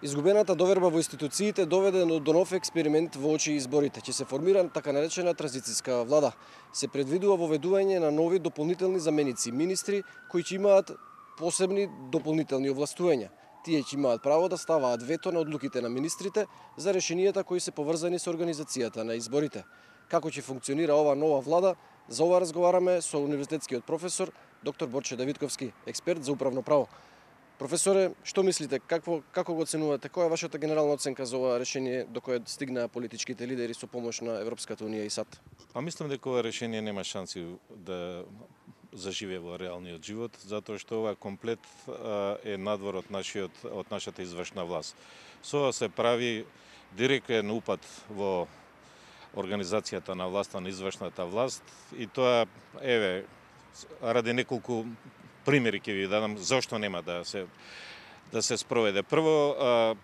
Изгубената доверба во институциите доведе до нов експеримент во очи изборите. Ќе се формира така наречена транзицијска влада. Се предвидува воведување на нови дополнителни заменици министри кои ќе имаат посебни дополнителни овластувања. Тие ќе имаат право да ставаат вето на одлуките на министрите за решенијата кои се поврзани со организацијата на изборите. Како ќе функционира ова нова влада? За ова разговараме со универзитетскиот професор доктор Борче Давидковски, експерт за управно право. Професоре, што мислите, како го оценувате, која е вашата генерална оценка за ова решение до кое стигнаа политичките лидери со помош на Европската унија и САД? Мислам дека ова решение нема шанси да заживее во реалниот живот, затоа што ова комплет е надвор од нашата извршна власт. Со ова се прави директен упад во организацијата на власта, на извршната власт, и тоа, ради неколку примери ќе ви дадам зошто нема да се спроведе. Прво,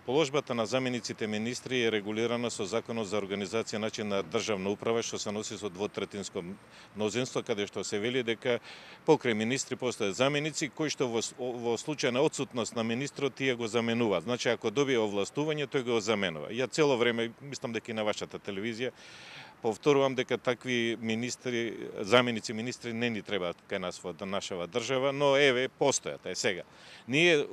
положбата на замениците министри е регулирана со Законот за организација и начин на државна управа, што се носи со двотретинско мнозинство, каде што се вели дека покрај министри постојат заменици кои што во случај на отсутност на министрот тие го заменуваат. Значи, ако добие овластување, тој го заменува. Ја цело време, мислам дека и на вашата телевизија, повторувам дека такви министри, заменици министри не ни требаат кај нас во нашава држава, но постојат, сега. Ние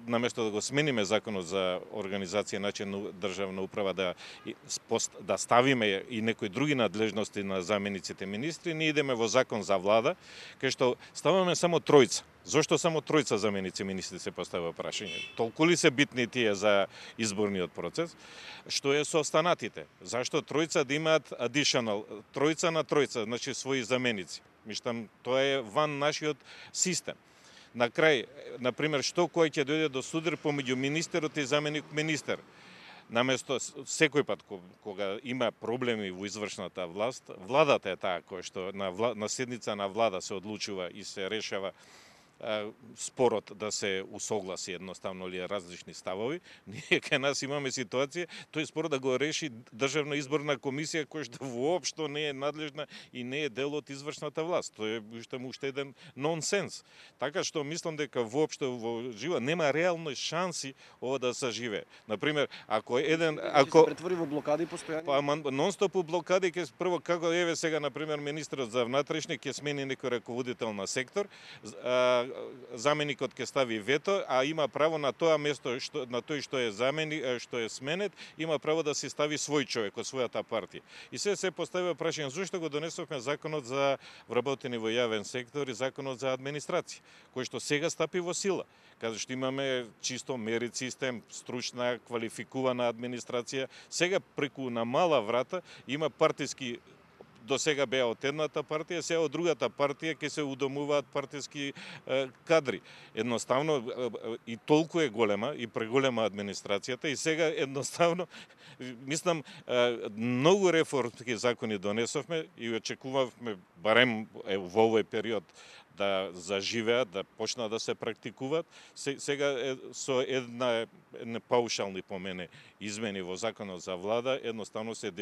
наместо да го смениме Законот за организација и начин на државна управа, да ставиме и некои други надлежности на замениците министри, ние идеме во Закон за влада, кај што ставаме само тројца. Зошто само тројца заменици министри, се поставува прашање? Толку ли се битни тие за изборниот процес? Што е со останатите? Зашто тројца да имаат additional, тројца на тројца, значи своји заменици? Мислам, тоа е ван нашиот систем. На крај, например, што кој ќе дојде до судир помеѓу министерот и заменик министер? Наместо секој пат кога има проблеми во извршната власт, владата е таа која што на седница на влада се одлучува и се решава спорот да се усогласи едноставно ли различни ставови. Ние кај нас имаме ситуација тој спор да го реши Државна изборна комисија која што воопшто не е надлежна и не е дел од извршната власт. Тоа е уште еден нонсенс. Така што мислам дека воопшто во живот нема реално шанси ова да саживее. Например, ако се претвори во блокади постојани? Нонстоп блокади, прво како сега например министерот за внатрешни ќе смени некој раководител на сектор, заменикот ќе стави вето, а има право на тоа место, на тој што е што е сменет, има право да си стави свој човек од својата партија. И се поставува прашање зошто го донесовме Законот за вработени во јавен сектор и Законот за администрација, кој што сега стапи во сила, каде што имаме чисто мерит систем, стручна, квалификувана администрација. Сега преку на мала врата има партиски, до сега беа од едната партија, сега од другата партија ќе се удомуваат партиски кадри. Едноставно и толку е голема и преголема администрацијата и сега едноставно мислам многу реформски закони донесовме и очекувавме барем во овој период да заживеат, да почнат да се практикуваат. Сега со една паушални по мене измени во Законот за влада, едноставно се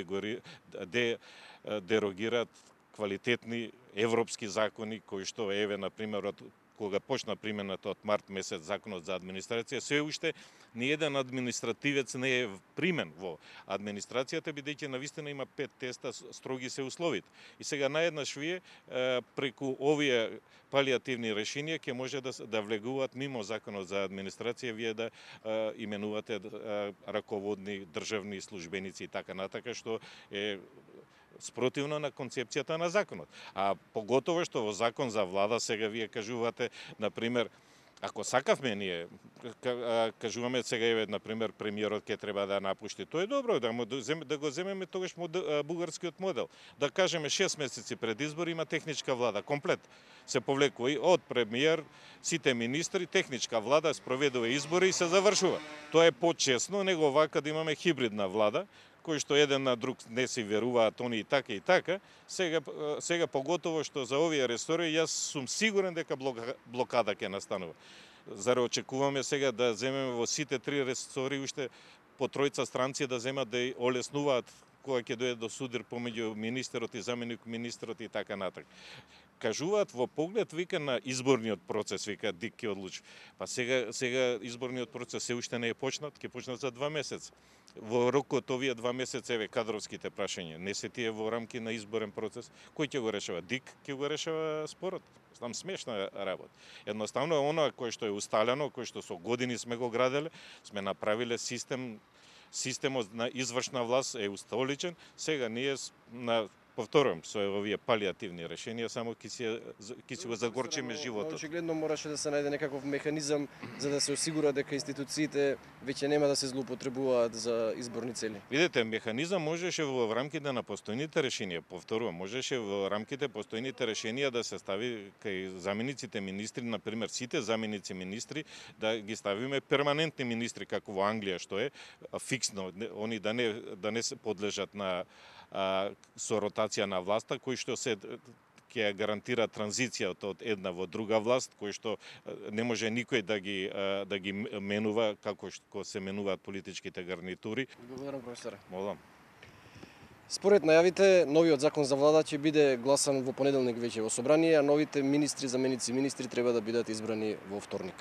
дерогираат квалитетни европски закони кои што например од кога почна примената од март месец Законот за администрација, се уште ни еден административец не е примен во администрацијата, бидејќи навистина има 5 теста, строги се условите. И сега наеднаш вие преку овие палиативни решенија ќе може да влегуваат мимо Законот за администрација, вие да именувате раководни државни службеници и така натака, што е спротивно на концепцијата на законот. А поготово што во Закон за влада сега вие кажувате, например, ако сакавме ние, кажуваме сега например, премиерот ќе треба да напушти. Тоа е добро, да го земеме тогаш бугарскиот модел. Да кажеме 6 месеци пред избори има техничка влада, комплет. Се повлекува и од премиер, сите министри, техничка влада, спроведува избори и се завршува. Тоа е почесно, него вака да имаме хибридна влада, кои што еден на друг не си веруваат они и така и така. Сега поготово што за овие ресори јас сум сигурен дека блокада ќе настанува. Зарем очекуваме сега да земеме во сите 3 ресори уште по тројца странци да земат да олеснуваат кога ќе дојде до судир помеѓу министерот и заменик министерот и така натаму. кажуваат во поглед вика на изборниот процес, вика Дик ќе одлучи. Па сега изборниот процес се уште не е почнат, ќе почнат за 2 месеци. Во рокот овие 2 месеци еве кадровските прашања, не се тие во рамки на изборен процес, кој ќе го решава? Дик ќе го решава спорот. Знам, смешна работа. Едноставно оно кој што е усталено, кој што со години сме го граделе, сме направиле системот на извршна власт е устоличен, сега ние повторувам, со овие палиативни решенија само ќе си го загорчиме животот. Очигледно мораше да се најде некаков механизам за да се осигура дека институциите веќе нема да се злоупотребуваат за изборни цели. Видете, механизам можеше во рамките на постојните решенија, повторувам, можеше во рамките постојните решенија да се стави кај замениците министри, на пример сите заменици министри да ги ставиме перманентни министри како во Англија што е фиксно, они да не се подлежат на со ротација на власта, кој што се ќе гарантира транзицијата од една во друга власт, кој што не може никој да ги менува како што се менуваат политичките гарнитури. Благодарам, професоре. Молам. Според најавите, новиот закон за влада ќе биде гласан во понеделник веќе во собрание, а новите министри, заменици министри треба да бидат избрани во вторник.